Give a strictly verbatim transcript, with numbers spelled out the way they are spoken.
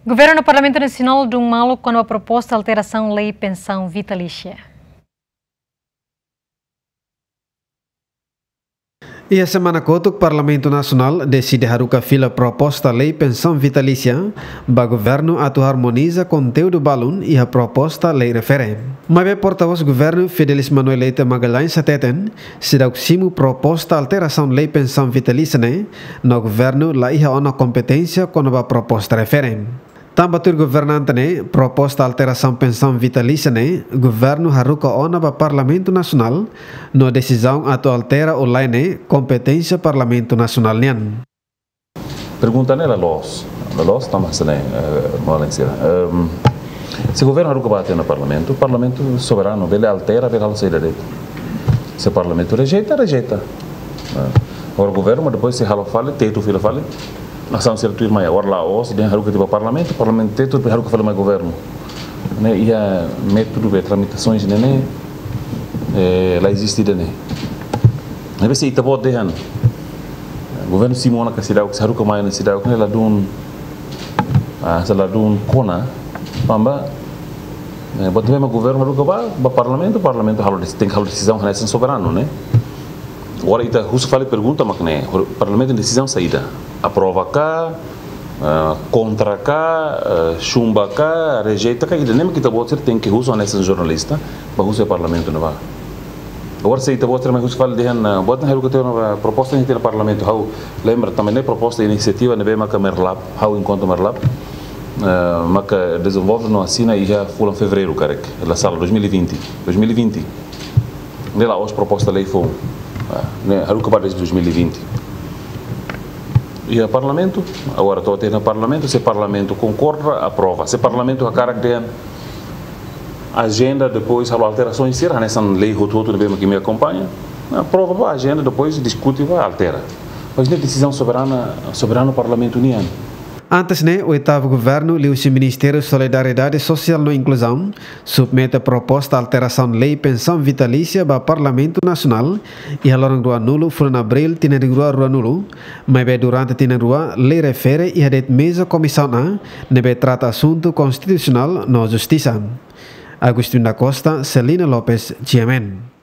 Governu no Parlamentu Nasionál dun malu kona-ba proposta alterasaun lei pensaun vitalísia. Iha semana kotuk, Parlamentu Nasionál deside haruka fila proposta lei pensaun vitalísia ba governu atu harmoniza konteúdu balun iha proposta lei refere. Maibé portavós governu Fidelis Manuel Leite Magalhães hateten, seidauk simu proposta alterasaun lei pensaun vitalísia ne'e, no governu la iha ona kompeténsia kona-ba proposta refere. Tanba tuir governante ne'e, proposta alterasaun pensaun vitalísia ne'e governu haruka ona ba Parlamentu Nasionál, no desizaun atu altera ou lae ne'e kompeténsia Parlamentu Nasionál nian. Pergunta ne'e la loos, la loos tanba sira-ne'e, eh, molen sira. Ehm, se governu haruka ba tiha ona Parlamentu, Parlamentu soberanu, bele altera, bele halo saida de'it. Se Parlamentu rejeita, rejeita. Eh, agora governu, mas depois sei halo fali, tetu fila fali, nasaun sira tuir mai. Agora la'ós dehan haruka tiha ba Parlamentu, Parlamentu tetu, depois haruka fali mai governu. Ne'e iha métodu be tramitasaun ne'e, ne'e, eh, la eziste ida-ne'e. Ne'ebé se ita-boot dehan governu simu ona ka seidauk, se haruka mai ona seidauk, ne'e ladún, ah, se ladún kona, tanba, eh, buat ne'ebé mak governu haruka ba, ba Parlamentu, Parlamentu halo desi-, tenke halo desizaun hanesan soberanu, ne'e. Agora ita husu fali pergunta mak ne'e, Parlamentu desizaun saida? Aprova ka, ah, kontra ka, ah, chumba ka, rejeita ka, ida-ne'e mak ita-boot sira tenke husu hanesan jornalista, ba husu iha Parlamentu ne'ebá. Agora se ita-boot sira mai husu fali dehan, ah, buat ne'e haruka tiha ona ba, proposta ne'e tiha ona Parlamentu, ha'u lembra tanba ne'e proposta inisiativa ne'ebé maka Merlap, ha'u enkuantu Merlap, ah, maka dezenvolve no asina iha fulan Fevereiru karik, la sala dois mil e vinte, dois mil e vinte. Ne'e la'ós proposta lei foun. Ah, ne'e haruka ba dezde dois mil e vinte. Iha Parlamentu, agora to'o tiha ona Parlamentu, se Parlamentu konkorda, aprova. Se Parlamentu hakarak dehan ajenda, depois halo alterasaun sira, hanesan lei hotu-hotu ne'ebé mak imi akompaña, aprova ba ajenda, depois diskute ba altera. Mas ne'e desizaun soberana, soberanu Parlamentu nian. Antes ne'e, oitavu governu liuhusi Ministériu Solidariedade Sosiál no Inkluzaun submete proposta alterasaun lei pensaun vitalísia ba Parlamentu Nasionál iha loron ruanulu fulan Abríl tinan rihun rua ruanulu, maibé durante tinan rua lei refere iha de'it meza Komisaun A, ne'ebé trata asuntu konstitusionál no justisa. Agustin da Costa, Celina Lopes, G M N.